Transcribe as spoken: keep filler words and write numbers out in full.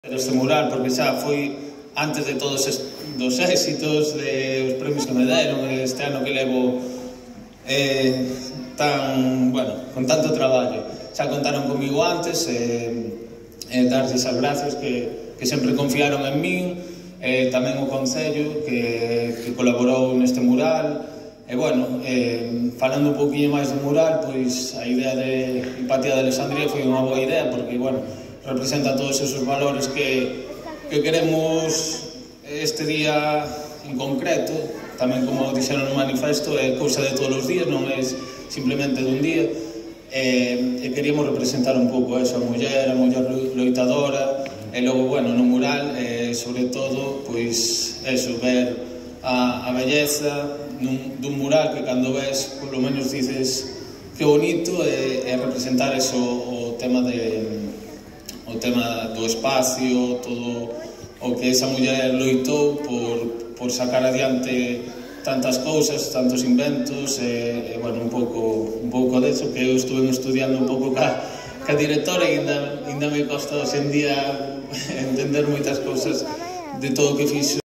Este mural, porque xa foi antes de todos os éxitos, de os premios que me deron, este ano que levo eh, tan, bueno, con tanto traballo. Xa contaron comigo antes, eh, eh, darlles as gracias que, que sempre confiaron en min, eh, tamén o Concello que, que colaborou neste mural. E, bueno, eh, falando un poquinho máis do mural, pois a idea de Empatía de Alexandría foi unha boa idea, porque, bueno, representa todos esos valores que, que queremos este día en concreto. Tamén, como dixeron no manifesto, é cousa de todos os días, non é simplemente dun día. E, e queríamos representar un pouco eso, a muller, a muller loitadora, e logo, bueno, no mural, eh, sobre todo, pois, eso, ver a, a belleza nun, dun mural que cando ves, polo menos dices que bonito, e, e representar eso, o tema de o tema do espacio, todo o que esa muller loitou por, por sacar adiante tantas cousas, tantos inventos, e, e bueno, un pouco, un pouco deso, que eu estuve estudiando un pouco ca, ca directora, e ainda, ainda me costa hoxe en día entender moitas cousas de todo o que fixo.